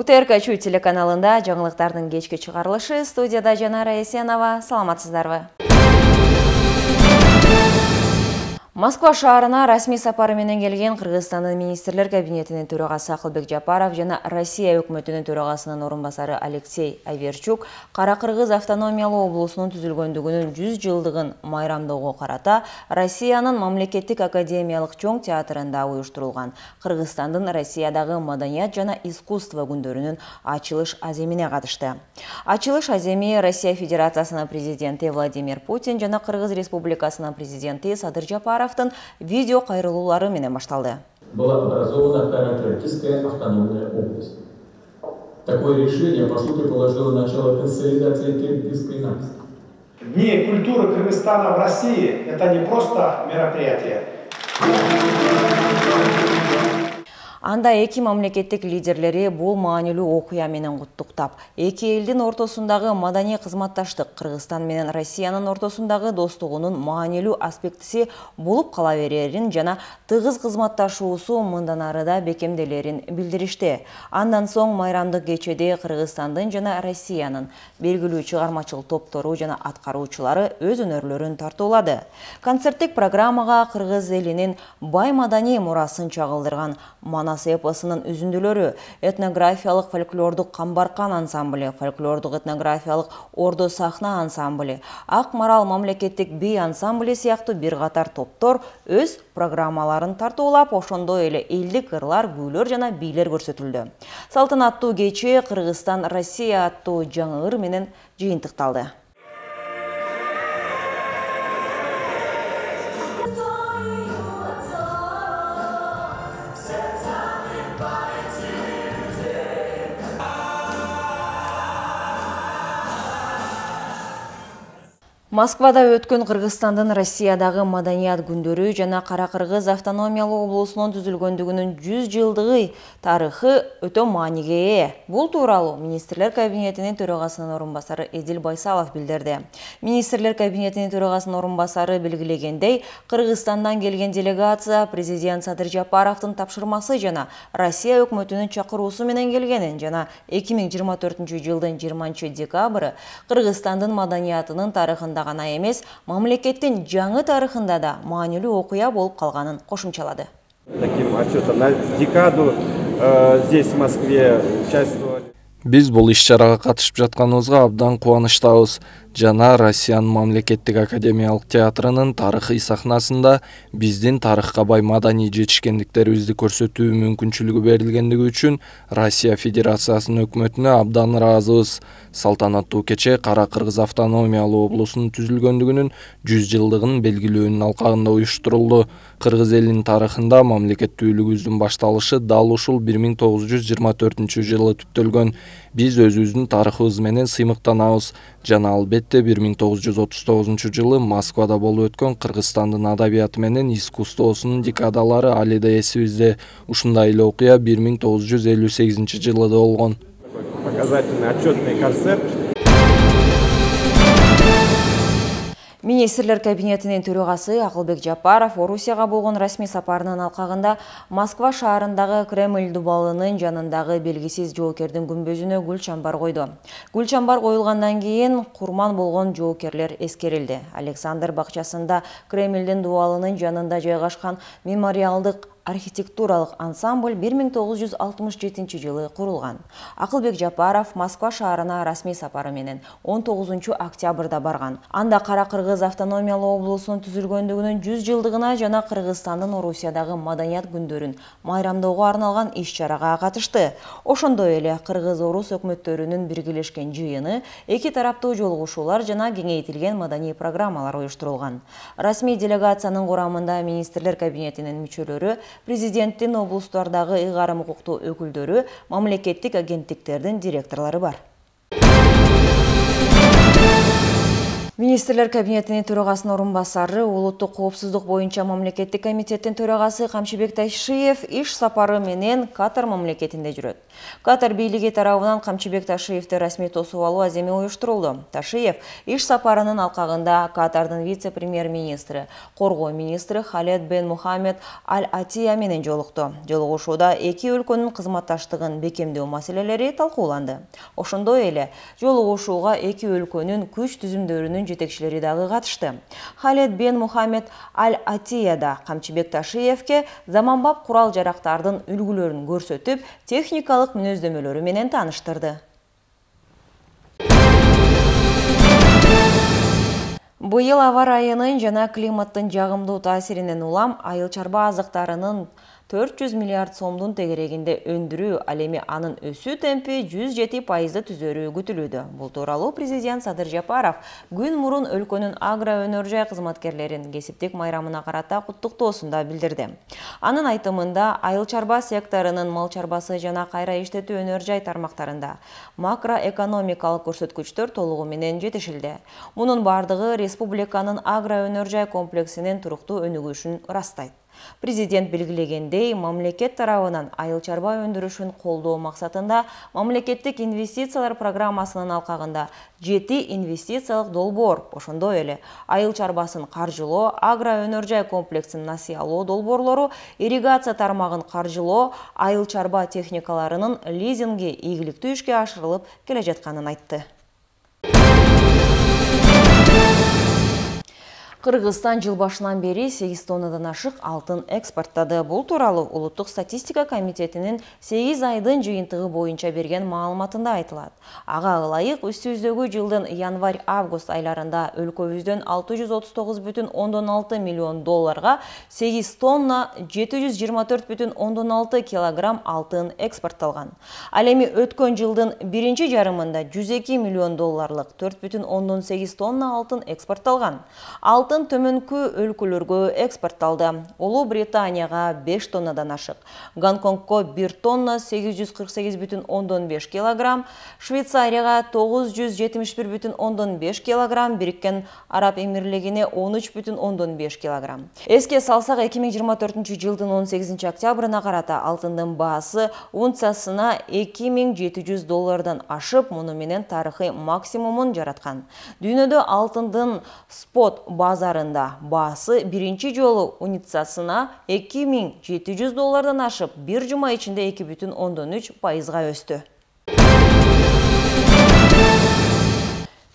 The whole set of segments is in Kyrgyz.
УТРК телеканалында жаңылыктардын кечки чыгарылышы, студияда Жанара Есенова. Саламатсыздарбы? Москва шаарына расмий сапары менен келген Кыргызстандын министрлер кабинетинин төрагасы Акылбек Жапаров жана Россия өкмөтүнүн төрагасынын орун басары Алексей Аверчук Кара-Кыргыз автономиялуу облусунун түзүлгөндүгүнүн 100 жылдыгын майрамдоого карата Россиянын мамлекеттик академиялык чоң театрында уюштурулган Кыргызстандын Россиядагы маданият жана искусство күндөрүнүн ачылыш аземине катышты. Ачылыш аземи Россия Федерациясынын президенти Владимир Путин жана Кыргыз Республикасынын президенти Садыр Жапаров видео кайрылуулары менен башталды. Была образована Кара-Кыргызская автономная область. Такое решение, по сути, положило начало консолидации кыргызской нации. Дни культуры Кыргызстана в России – это не просто мероприятие. Анда эки мамлекеттик лидерлери бул маанилүү окуя менен куттуктап, эки элдин ортосундагы маданий кызматташтык Кыргызстан менен Россиянын ортосундагы достугунун маанилүү аспектиси болуп кала берерин жана тыгыз кызматташуусу мындан ары да бекемделерин билдиришти. Андан соң майрамдык кечеде Кыргызстандын жана Россиянын белгилүү чыгармачыл топтору жана аткаруучулары өз өнөрлөрүн тартуулады. Концерттик программага кыргыз элинин бай маданий мурасын чагылдырган Манас эпосунун үзүндүлөрү, этнографиялык фольклордук Камбаркан ансамблі, фольклордук этнографиялык Ордо сахна ансамблі, Ак Марал мамлекеттик би ансамблі сыяктуу бир катар топтор өз программаларын тартуулап, ошондой эле элдик ырлар, күүлөр жана бийлер көрсөтүлдү. Салтанаттуу кече Кыргызстан Россия аттуу жаңы ыр менен жыйынтыкталды. Москвада өткөн Кыргызстандын Россиядагы маданият күндөрү жана Кара-Кыргыз автономиялуу облусунун түзүлгөндүгүнүн 100 жылдыгы тарыхы өтө мааниге ээ. Бул тууралуу министрлер кабинетинин төрагасынын орун басары Эдил Байсалов билдирди. Министрлер кабинетинин төрагасынын орун басары белгилегендей, Кыргызстандан келген делегация президент Садыр Жапаровдун тапшырмасы жана Россия өкмөтүнүн чакыруусу менен келгенин жана 2024 жылдын 20 декабры Кыргызстандын маданиятынын тарыхында гана эмес, мамлекеттин жаңы тарыхында да маанилүү окуя болуп калганын кошумчалады. Таким отчетом на декаду здесь в Москве участвовали. Биз бул иш-чарага катышып жатканыбызга абдан кубанычтабыз. Жана Россиянын мамлекеттик академиялык театрынын тарыхый сахнасында биздин тарыхка бай маданий жетишкендиктерибизди көрсөтүү мүмкүнчүлүгү берилгендиги үчүн Россия Федерациясынын өкмөтүнө абдан ыраазыбыз. Салтанаттуу кече Кара-Кыргыз автономиялуу облусунун түзүлгөндүгүнүн 100 жылдыгын белгилөөнүн алкагында уюштурулду. Кыргыз элинин тарыхында мамлекеттүүлүгүбүздүн башталышы дал ушул 1924 жылы түптөлгөн. Биз өзүбүздүн тарыхыбыз менен сыймыктанабыз жана албетте 1939 жылы Москвада болуп өткөн Кыргызстандын адабияты менен искусствосунун декадалары али да эсибизде. Ушундай эле окуя 1958 жылы да болгон. Показательный отчетный концерт. Министрлер кабинетинин төрагасы Акылбек Жапаров Орусияга болгон расмий сапарынын алкагында Москва шаарындагы Кремль дубалынын жанындагы белгисиз жоокердин күмбөзүнө гүл чамбар койду. Гүл чамбар коюлгандан кийин курман болгон жоокерлер эскерилди. Александр бакчасында Кремльдин дубалынын жанында жайгашкан мемориалдык архитектуралык ансамбль 1967 жылы курулган. Акылбек Жапаров Москва шаарына расмий сапары менен 19 октябрда барган. Анда Кара-Кыргыз автономиялуу облусунун түзүлгөндүгүнүн 100 жылдыгына жана Кыргызстандын Орусиядагы маданият күндөрүн майрамдоого арналган иш-чарага катышты. Ошондой эле Кыргыз-Орус өкмөттөрүнүн биргелешкен жыйыны, эки тараптуу жолугушуулар жана кеңейтилген маданий программалар уюштурулган. Расмий делегациянын курамында министрлер кабинетинин мүчөлөрү, президенттин облустардагы ыйгарым укуктуу өкүлдөрү, мамлекеттик агенттиктердин директорлору бар. Министрлер кабинетинин төрагасынын орун басары, улуттук коопсуздук боюнча мамлекеттик комитеттин төрагасы Камчыбек Ташиев иш сапары менен Катар мамлекетинде жүрөт. Катар бийлиги тарабынан Камчыбек Ташиевди расмий тосуп алуу аземи уюштурулду. Ташиев иш сапарынын алкагында Катардын вице-премьер-министри, коргоо министри Халед бен Мухаммед Аль-Атия менен жолукту. Жолугушууда эки өлкөнүн кызматташтыгын бекемдөө маселелери талкууланды. Ошондой эле жолугушууга эки өлкөнүн күч түзүмдөрүнүн жетекчилери дагы катышты. Халед бен Мухаммед Аль-Атия да Камчыбек Ташиевке заманбап курал-жарактардын үлгүлөрүн көрсөтүп, техникалык мүнөздөмөлөрү менен тааныштырды. Быйыл аба райынын жана климаттын жагымдуу таасиринен улам айыл чарба азыктарынын 400 миллиард сомдун тегерегинде өндүрүү, ал эми анын өсүү темпи 107% түзөрү күтүлүүдө. Бул тууралуу президент Садыр Жапаров күн мурун өлкөнүн агро өнөр жай кызматкерлерин кесиптик майрамына карата куттуктоосунда билдирди. Анын айтымында айыл чарба секторунун мал чарбасы жана кайра иштетүү өнөр жай тармактарында макроэкономикалык көрсөткүчтөр толугу менен жетишилди. Мунун бардыгы республиканын агро өнөр жай комплексинин туруктуу өнүгүшүн ырастайт. Президент белгилегендей, мамлекет тарабынан айыл чарба өндүрүшүн колдоо максатында мамлекеттик инвестициялар программасынын алкагында 7 инвестициялык долбоор, ошондой эле айыл чарбасын каржылоо, агро өнөр жай комплексин насыялоо долбоорлору, ирригация тармагын каржылоо, айыл чарба техникаларынын лизинги ийгиликтүү ишке ашырылып келе жатканын айтты. Кыргызстан жыл башынан бери 8 тоннадан ашык алтын экспорттады. Бул тууралуу Улуттук статистика комитетинин 8 айдын жыйынтыгы боюнча берген маалыматында айтылат. Ага ылайык үстүбүздөгү жылдын январь-август айларында өлкөбүздөн 639,6 миллион долларга 8 тонна 724,6 килограмм алтын экспортталган. Ал эми өткөн жылдын биринчи жарымында 102 миллион долларлык 4,8 тонна алтын экспортталган. Алтын төмөнкү өлкөлөргө экспортталды. Улуу Британияга 5 тоннадан ашык, Гонконгко 1 тонна 848,5 килограмм, Швейцарияга 971,5 килограмм, Бириккен Араб Эмирлигине 13,5 килограмм. Эске салсак, 2024 жылдын 18 октябрына карата алтындын баасы унциясына 2700 доллардан ашып, муну менен тарыхый максимумун жараткан. Дүйнөдө алтындын спот базарында баасы биринчи жолу унциясына 2700 доллардан ашып, бир жума ичинде 2,3% өстү.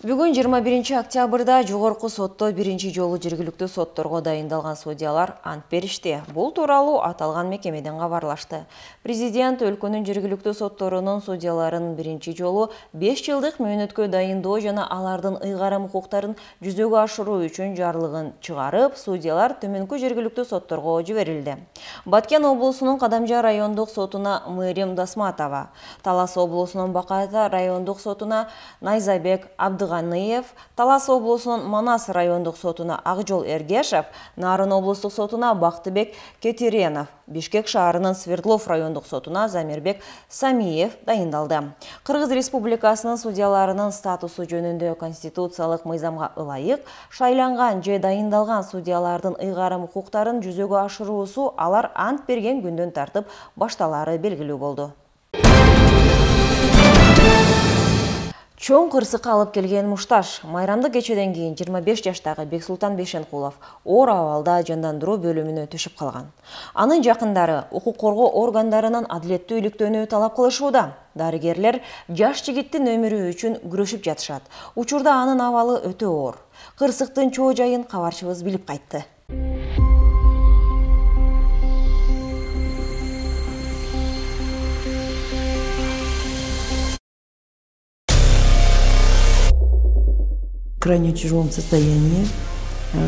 Бүгүн 21 октябрда жогорку сотто биринчи жолу жергиликтүү сотторго дайындалган судьялар ант беришти. Бул тууралуу аталган мекемеден кабарлашты. Президент өлкөнүн жергиликтүү сотторунун судьяларын биринчи жолу 5 жылдык мөөнөткө дайындоо жана алардын ыйгарым укуктарын жүзөгө ашыруу үчүн жарлыгын чыгарып, судьялар төмөнкү жергиликтүү сотторго жиберилди. Баткен облусунун Кадамжа райондук сотуна Мээрим Дасматова, Талас облусунун Бакайта райондук сотуна Найзабек Абдыганыев, Талас облусунун Манас райондук сотуна Акжол Эргешев, Нарын облустук сотуна Бактыбек Кетиренов, Бишкек шаарынын Свердлов райондук сотуна Замирбек Самиев дайындалды. Кыргыз Республикасынын судьяларынын статусу жөнүндө конституциялык мыйзамга ылайык шайланган же дайындалган судьялардын ыйгарым укуктарын жүзөгө ашыруусу алар ант берген күндөн тартып башталары белгилүү болду. Чоң кырсыкка алып келген мушташ. Майрамдык кечеден кийин 25 жаштагы Бексултан Бешенкулов оор абалда жандандыруу бөлүмүнө түшүп калган. Анын жакындары укук коргоо органдарынан адилеттүү иликтөөнү талап кылышууда. Дарыгерлер жаш жигиттин өмүрү үчүн күрөшүп жатышат. Учурда анын абалы өтө оор. Кырсыктын чоо жайын кабарчыбыз билип кайтты. В крайне тяжелом состоянии,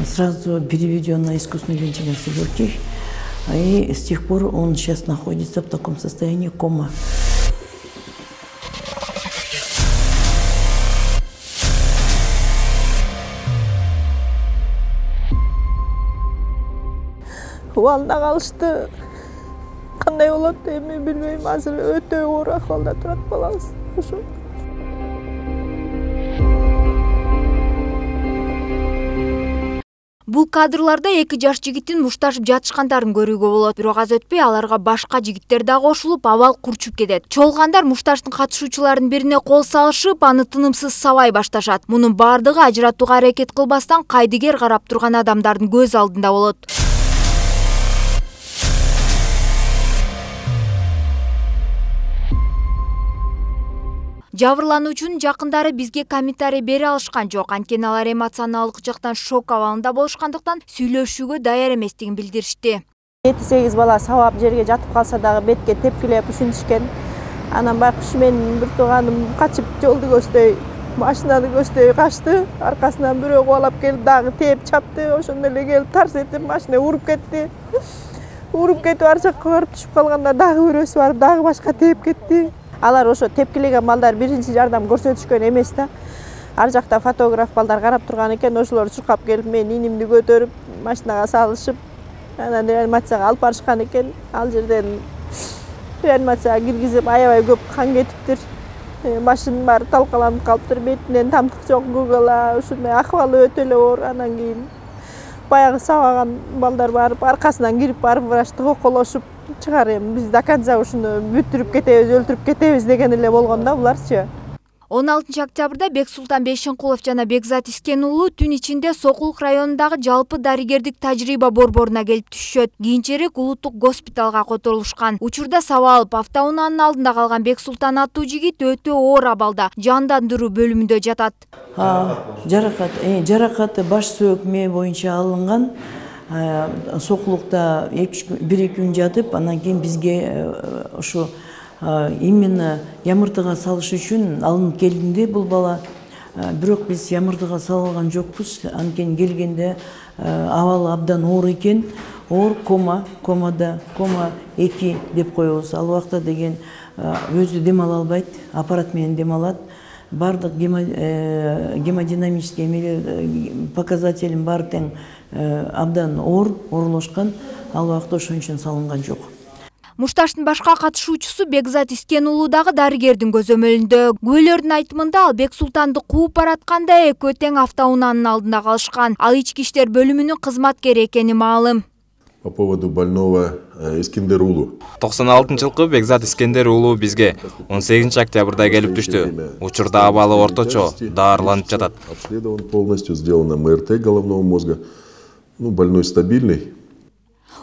сразу переведен на искусственную вентиляцию легких, и с тех пор он сейчас находится в таком состоянии кома. Убалда калышты. Кандай болот эми билбейм. Азыр өтө оор акыбалда турат балабыз. Ошо. Бул кадрларда 2 жаш жигиттин мушташып жатышкандарын көрүүгө болот. Бирок аз өтпөй аларга башка жигиттер да кошулуп, абал курчуп кетет. Чолгандар мушташтын катышуучуларынын бирине кол салышып, аны тынымсыз сабай башташат. Мунун бардыгы ажыратууга аракет кылбастан кайдыгер карап турган адамдардын көз алдында болот. Жабырлануучунун жакындары бизге комментарий бере алышкан жок. Анткени алар эмоционалдык жактан шок абалында болушкандыктан сүйлөшүүгө даяр эместигин билдиришти. 7-8 бала сабап жерге жатып калса дагы бетке тепкилеп ушинтишкен. Анан байкуш менин бир тууганым качып жолду көздөй, машинаны көздөй качты. Аркасынан бирөө кубалап келип дагы тээп чапты. Ошондо эле келип тарс этип машина уруп кетти. Уруп кетип ар жакка барып түшүп калганда дагы бирөөсү барып дагы башка тээп кетти. Алар ошо тепкилеген балдар биринчи жардам көрсөтүшкөн эмес да. Ар жакта фотограф балдар карап турган экен, ошолор чуркап келип мен инимди көтөрүп машинага салышып, анан реанимацияга алып барышкан экен. Ал жерден реанимацияга киргизип аябай көп кан кетиптир. Башынын баары талкаланып калыптыр, бетинен тамтык жок, гугала, ушундай акыбалы өтө эле оор. Анан кийин баягы сабаган балдар барып аркасынан кирип барып врачты коколошуп чыгар эми биз до конца ушуну бүтүрүп кетебиз, өлтүрүп кетебиз деген эле болгон да буларчы. 16 октябрда Бексултан Бейшенкулов жана Бекзат Искен уулу түн ичинде Сокулук районундагы жалпы дарыгердик тажрыйба борборуна келип түшөт. Кийинчерээк улуттук госпиталга которулушкан. Учурда сабак алып автоунаанын алдында калган Бексултан аттуу жигит өтө оор абалда жандандыруу бөлүмүндө жатат. Жаракаты баш сөөк мээ боюнча алынган. Сокулукта 1-2 күн жатып, анан кийин бизге ушу именно ямыртыга салыш үчүн алынып келдинде бул бала. Бирок биз ямыртыга салган жокпуз. Анткени келгенде абалы абдан оор экен. Оор комада, кома 2 деп коебуз. Ал убакта деген өзү дем ала албайт, аппарат менен дем алат. Бардык гемодинамический показателин баары тең абдан оорлошкан. Ал убакта ошон үчүн салынган жок. Мушташтын башка катышуучусу Бекзат Искен уулу дагы дарыгердин көзөмөлүндө. Күбөлөрдүн айтымында ал Бексултанды кууп баратканда экөө тең автоунаанын алдында калышкан. Ал ички иштер бөлүмүнүн кызматкери экени маалым. По поводу больного Искендер уулу. 96-жылкы Бекзат Искендер уулу бизге 18 октябрда келип түштү. Учурда абалы орточо, даарыланып жатат. Обследован полностью, сделано МРТ головного мозга. Больной стабильный.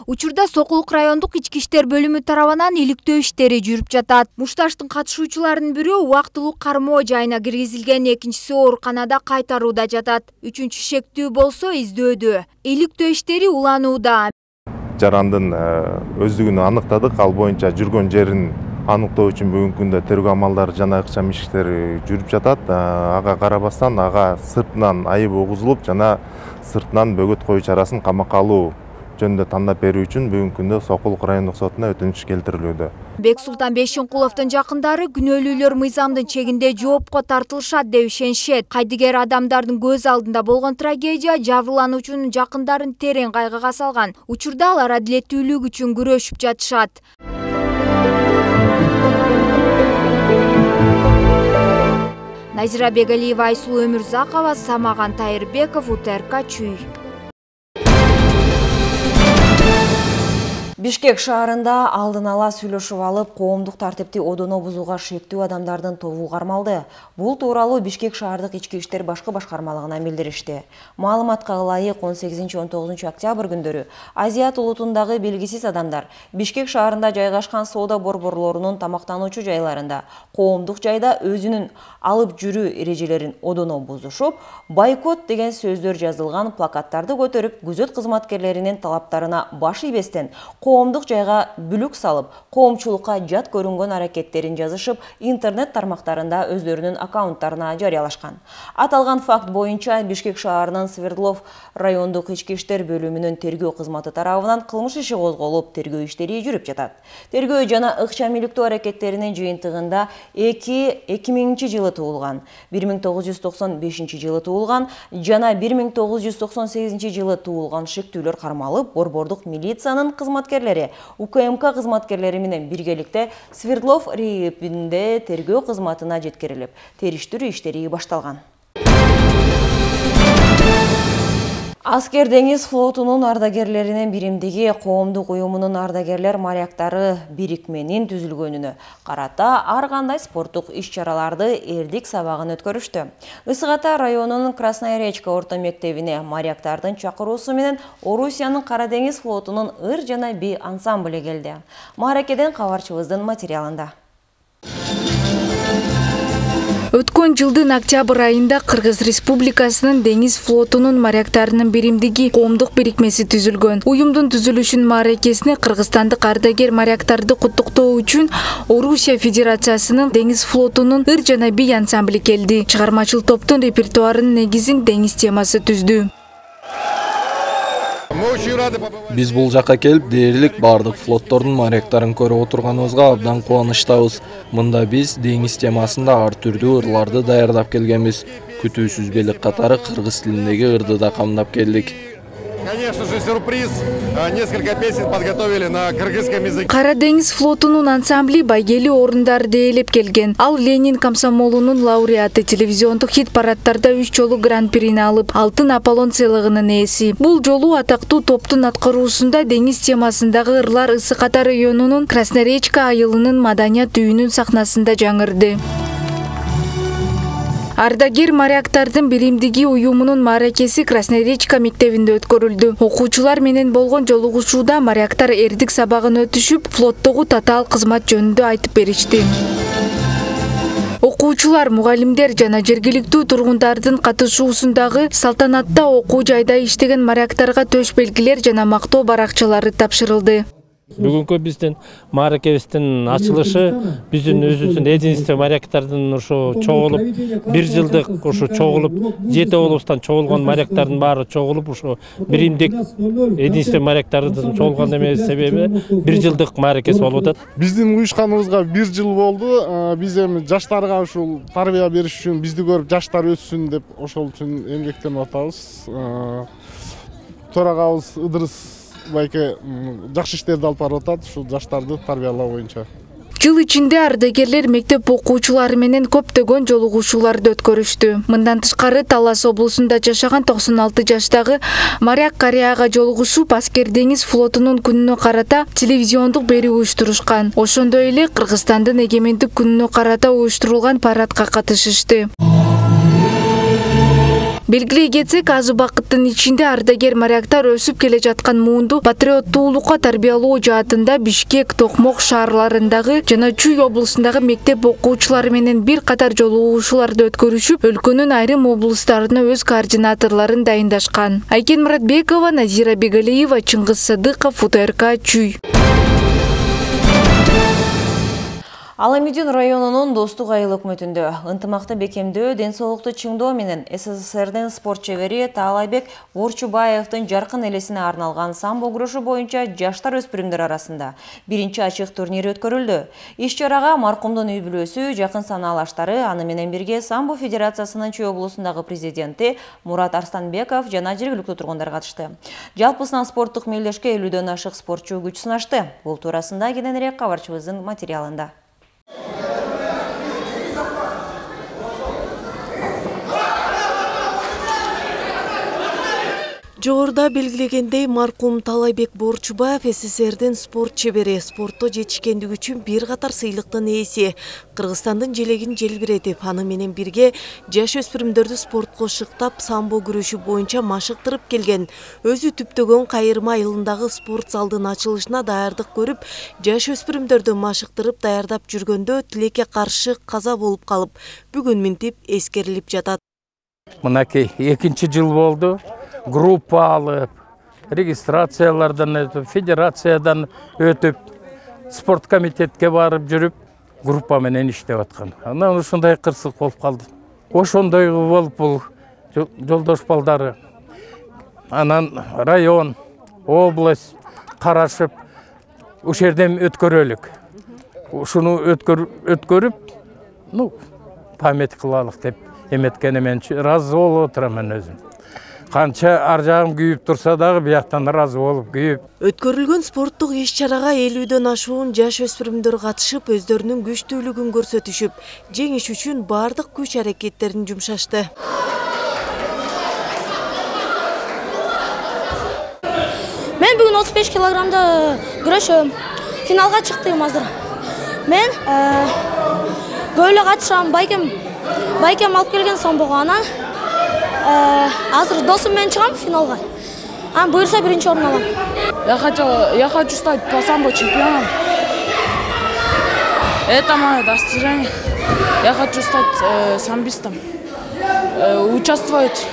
Учурда Сокулук райондук ички иштер бөлүмү тарабынан иликтөө иштери жүрүп жатат. Мушташтын катышуучуларынын бирөө убактылуу кармоо жайына киргизилген, экинчиси ооруканада кайтарууда жатат. Үчүнчү шектүү болсо издөөдө. Иликтөө иштери уланууда. Жарандын өздүгүн аныктадык, ал боюнча жүргөн жерин аныктоо үчүн бүгүнкү күндө тергөө амалдары жана ыкчам иштери жүрүп жатат. Ага карабастан ага сыртынан айып угузулуп жана сыртынан бөгөт коюу чарасын камакка алуу жөнүндө тандап берүү үчүн бүгүнкү күндө Сокулук райондук сотуна өтүнүч келтирилүүдө. Бексултан Бейшенкуловдун жакындары күнөөлүүлөр мыйзамдын чегинде жоопко тартылышат деп ишенишет. Кайдыгер адамдардын көз алдында болгон трагедия жабырлануучунун жакындарын терең кайгыга салган. Учурда алар адилеттүүлүк үчүн күрөшүп жатышат. Назира Бегалиева, Айсулуу Өмүрзакова, Самаган Тайырбеков, УТРК Чүй. Бишкек шаарында алдын ала сүйлөшүп алып, коомдук тартипти одоно бузууга шектүү адамдардын тобу кармалды. Бул тууралуу Бишкек шаардык ички иштер башкы башкармалыгына билдиришти. Маалыматка ылайык 18-19 октябрь күндөрү Азият улутундагы белгисиз адамдар Бишкек шаарында жайгашкан соода борборлорунун тамактануучу жайларында коомдук жайда өзүнүн алып жүрүү эрежелерин одоно бузушуп, бойкот деген сөздөр жазылган плакаттарды көтөрүп, күзөт кызматкерлеринин талаптарына баш ийбестен коомдук жайга бүлүк салып, коомчулукка жат көрүнгөн аракеттерин жазышып, интернет тармактарында өздөрүнүн аккаунттарына жарыялашкан. Аталган факт боюнча Бишкек шаарынын Свердлов райондук ички иштер бөлүмүнүн тергөө кызматы тарабынан кылмыш иши козголуп, тергөө иштери жүрүп жатат. Тергөө жана ыкчам иликтөө аракеттеринин жыйынтыгында 2000-жылы туулган, 1995-жылы туулган жана 1998-жылы туулган шектүүлөр кармалып, борбордук милициянын кызматкерлери УКМК кызматкерлери менен биргеликте Свердлов РИИПинде тергөө кызматына жеткирилип, териштирүү иштери башталган. Аскер деңиз флотунун ардагерлеринин биримдиги коомдук уюмунун ардагерлер моряктары бирикменин түзүлгөнүнө карата ар кандай спорттук иш-чараларды эрдик сабагын өткөрүштү. Ысык Ата районунун Красная Речка орто мектебине моряктардын чакыруусу менен Орусиянын Кара деңиз флотунун ыр жана би ансамблі келди. Мааракеден кабарчыбыздын материалында. Өткөн жылдын октябрь айында Кыргыз Республикасынын деңиз флотунун моряктарынын биримдиги коомдук бирикмеси түзүлгөн. Уюмдун түзүлүшүнүн мааракесине кыргызстандык ардагер моряктарды куттуктоо үчүн Орусия Федерациясынын деңиз флотунун ыр жана би ансамблі келди. Чыгармачыл топтун репертуарынын негизин деңиз темасы түздү. Биз бул жакка келип, дээрлик бардык флоттордун моряктарын көрүп отурганыбызга абдан кубанычтабыз. Мында биз деңиз темасында ар түрдүү ырларды даярдап келгенбиз. Күтүүсүз белек катары кыргыз тилиндеги ырды да камдап келдик. Конечно же, сюрприз. Несколько песен подготовили на кыргызском языке. Кара деңиз флотунун ансамбли байгели орундарды ээлеп келген. Ал Ленин комсомолунун лауреаты, телевизиондук хит-парадтарда 3 жолу гран-прини алып, алтын Аполлон сыйлыгынын ээси. Бул жолу атактуу топтун аткаруусунда деңиз темасындагы ырлар Ысык Ата районунун Красная Речка айылынын маданият үйүнүн сахнасында жаңырды. Ардагер моряктардын биримдиги уюмунун мааракеси Красная Речка мектебинде өткөрүлдү. Окуучулар менен болгон жолугушууда моряктар эрдик сабагын өтүшүп, флоттогу татаал кызмат жөнүндө айтып беришти. Окуучулар, мугалимдер жана жергиликтүү тургундардын катышуусундагы салтанатта окуу жайда иштеген моряктарга төш белгилер жана мактоо баракчалары тапшырылды. Бүгүнкү биздин мааракебиздин ачылышы биздин өзүбүздүн единство моряктардын ушу чогулуп, 1 жылдык ушу чогулуп, 7 облустан чогулган моряктардын баары чогулуп, ушу биримдик единство моряктардын чогулган эмес себеби 1 жылдык мааракеси болуп атат. Биздин уюшканыбызга 1 жыл болду. Биз эми жаштарга ушул тарбия бериш үчүн, бизди көрүп жаштар өссүн деп ошол үчүн эмгектенип атабыз. Төрагабыз Ыдырыс байке жакшы иштерди алып барып атат, ушул жаштарды тарбиялоо боюнча. Жыл ичинде ардагерлер мектеп окуучулары менен көптөгөн жолугушууларды өткөрүштү. Мындан тышкары Талас облусунда жашаган 96 жаштагы моряк карыяга жолугушуп, Аскер деңиз флотунун күнүнө карата телевизиондук берүү уюштурушкан. Ошондой эле Кыргызстандын эгемендик күнүнө карата уюштурулган парадка катышышты. Белгилей кетсек, аз убакыттын ичинде ардагер моряктар өсүп келе жаткан муунду патриоттуулукка тарбиялоо жаатында Бишкек, Токмок шаарларындагы жана Чүй облусундагы мектеп окуучулары менен бир катар жолугушууларды өткөрүшүп, өлкөнүн айрым облустарына өз координаторлорун дайындашкан. Айкен Муратбекова, Назира Бегалиева, Чыңгыз Садыков, УТРК Чүй. Аламедин районунун Достук айыл өкмөтүндө ынтымакты бекемдөө, ден соолукту чыңдоо менен СССРдин спорт чебери Таалайбек Борчубаевдин жаркын элесине арналган самбо күрөшү боюнча жаштар өспүрүмдөр арасында биринчи ачык турнири өткөрүлдү. Иш-чарага маркумдун үй бүлөсү, жакын санаалаштары, аны менен бирге самбо федерациясынын Чүй облусундагы президенти Мурат Арстанбеков жана жергиликтүү тургундар катышты. Жалпысынан спорттук мелдешке 50дөн ашык спортчу күч сынашты. Бул туурасында кененирээк кабарчыбыздын материалында. Жогоруда белгилегендей, маркум Таалайбек Борчубаев СССРдин спорт чебери, спортто жетишкендиги үчүн бир катар сыйлыктын ээси. Кыргызстандын желегин желбиретип, аны менен бирге жаш өспүрүмдөрдү спортко шыктап, самбо күрөшү боюнча машыктырып келген. Өзү түптөгөн Кайырма айылындагы спорт залдын ачылышына даярдык көрүп, жаш өспүрүмдөрдү машыктырып даярдап жүргөндө тилекке каршы каза болуп калып, бүгүн минтип эскерилип жатат. Мынакей 2-нчи жыл болду. Группа алып, регистрациялардан өтүп, федерациядан өтүп, спорт комитетке барып жүрүп, группа менен иштеп аткан. Анан ушундай кырсык болуп калды. Ошондой болуп бул жолдош балдары. Анан район, область карашып, ушул жерден өткөрөлүк. Ушуну өткөрүп, память кылалык деп эметкене мен ыраазы болуп отурамын өзүм. Канча ар жагым күйүп турса дагы бияктан ыраазы болуп күйүп. Өткөрүлгөн спорттук иш-чарага 50дөн ашуун жаш өспүрүмдөр катышып, өздөрүнүн күчтүүлүгүн көрсөтүшүп, жеңиш үчүн бардык күч аракеттерин жумшашты. Мен бүгүн 35 килограммда күрөшөм. Финалга чыктым азыр. Мен көйлө катышам, байкем алып келген самбого. Анан азыр досум менен чыгам финалга. Анан буйрса биринчи орун алам. Я хочу стать по самбо чемпионом. Это мое достижение. Я хочу стать самбистом. Участвовать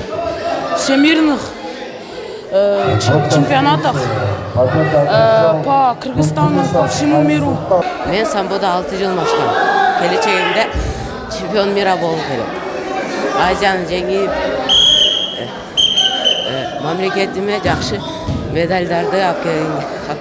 в всемирных чемпионатах по Кыргызстану, по всему миру. Мен самбода 6 жыл машкам. Келечегимде чемпион мира болуп келем. Азияны жеңип, мамлекетиме жакшы медалдарды алып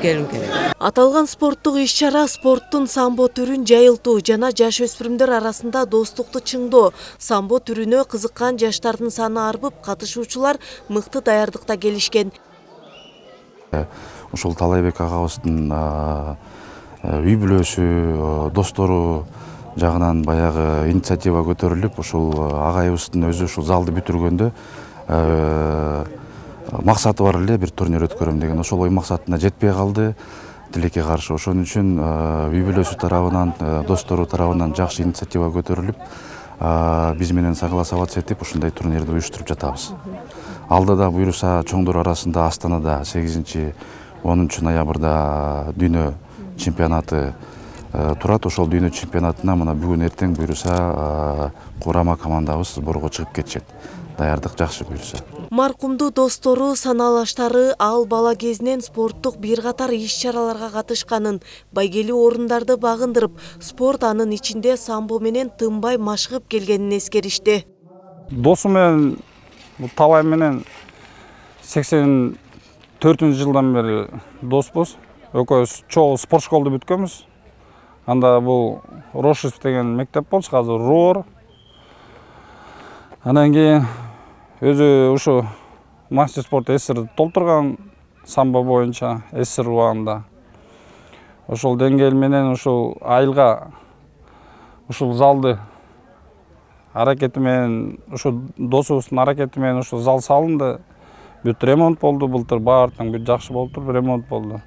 келгим керек. Аталган спорттук иш-чара спорттун самбо түрүн жайылтуу жана жаш өспүрүмдөр арасында достукту чыңдоо. Самбо түрүнө кызыккан жаштардын саны арбып, катышуучулар мыкты даярдыкта келишкен. Ушул Талайбек агабыздын үй бүлөсү, достору жагынан баягы инициатива көтөрүлүп, ушул агайыбыздын өзү ушул залды бүтүргөндө максаты бар эле, бир турнир өткөрөм деген. Ошол ой максатына жетпей калды. Тилекке каршы. Ошон үчүн үй бүлөсү тарабынан, достору тарабынан жакшы инициатива көтөрүлүп, биз менен согласоваться этип ушундай турнирди уюштуруп жатабыз. Алдыда буйруса чоңдор арасында Астанада 8-10 ноябрда дүйнө чемпионаты турат. Ошол дүйнө чемпионатына мына бүгүн эртең буйруса курама командабыз сборго чыгып кетишет. Даярдык жакшы буйруса. Маркумду достору, саналаштары ал бала кезинен спорттук бир катар иш-чараларга катышканын, байгелүү орундарды багындырып, спорт анын ичинде самбо менен тынбай машыгып келгенин эскеришти. Досум менен Талай менен 84-жылдан бери доспуз. Экөөбүз чогуу спорт школду бүткөнбүз. Анда бул Рошев деген мектеп болчу, азыр РУОР. Андан кийин өзү ушу мастер спорт СССР толтурган самбо боюнча СССР убагында. Ошол деңгээл менен ушул айылга ушул залды аракети менен, ушу досубуздун аракети менен ушул зал салынды. Бүт ремонт болду, былтыр баардыгы бүт жакшы болуп туруп ремонт болду.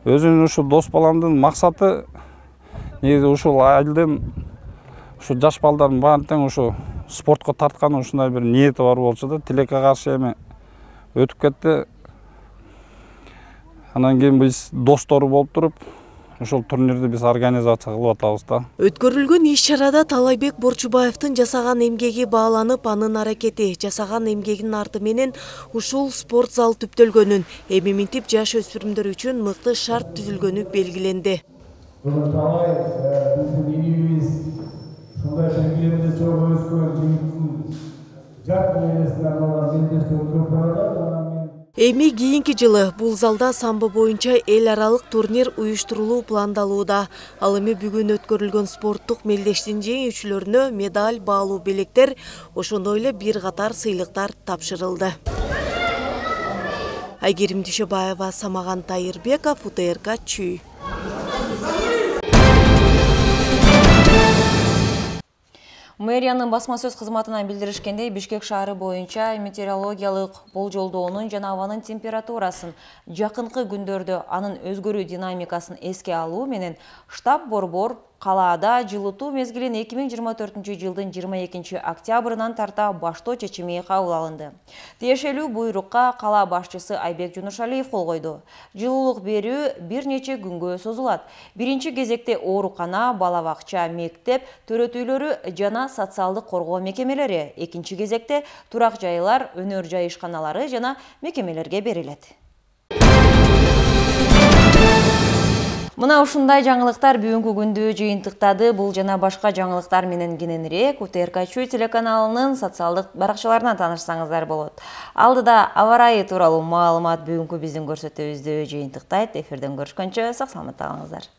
Өзүнүн ушу дос баламдын максаты негизи ушул айылдын ушу жаш балдардын баарын тең ушу спортко тарткан ушундай бир ниети бар болчу да, тилекке каршы эми өтүп кетти. Андан кийин биз достору болуп туруп, ошол турнирди биз организация кылып атабыз да. Өткөрүлгөн иш-чарада Талайбек Борчубаевдин жасаган эмгеги бааланып, анын аракети, жасаган эмгегинин арты менен ушул спорт зал түптөлгөнүн, эми минтип жаш өспүрүмдөр үчүн мыкты шарт түзүлгөнү белгиленди. Ушундай белгилерде чогуу өскөн жигиттин жаркын элесине арналган белдештер көп барат. Эми кийинки жылы бул залда самбо боюнча эл аралык турнир уюштурулуу пландалууда. Ал эми бүгүн өткөрүлгөн спорттук мелдештин жеңүүчүлөрүнө медаль, баалуу белектер, ошондой эле бир катар сыйлыктар тапшырылды. Айгерим Дүйшөбаева, Самаган Тайырбеков, УТРК Чүй. Мэриянын басма сөз кызматынан билдиришкендей, Бишкек шаары боюнча метеорологиялык болжолдоонун жана абанын температурасын жакынкы күндөрдө анын өзгөрүү динамикасын эске алуу менен штаб борбор калаада жылытуу мезгилин 2024-жылдын 22 октябрынан тарта баштоо чечими кабыл алынды. Тиешелүү буйрукка кала башчысы Айбек Жунушалиев кол койду. Жылуулук берүү бир нече күнгө созулат. Биринчи кезекте оорукана, бала бакча, мектеп, төрөт үйлөрү жана социалдык коргоо мекемелери, экинчи кезекте турак жайлар, өнөр жай ишканалары жана мекемелерге берилет. Мына ушундай жаңылыктар бүгүнкү күндү жыйынтыктады. Бул жана башка жаңылыктар менен кененирээк УТРК Чүй телеканалынын социалдык баракчаларынан таанышсаңыздар болот. Алдыда аба ырайы тууралуу маалымат бүгүнкү биздин көрсөтүүбүздү жыйынтыктайт. Эфирден көрүшкөнчө сак саламатта калыңыздар.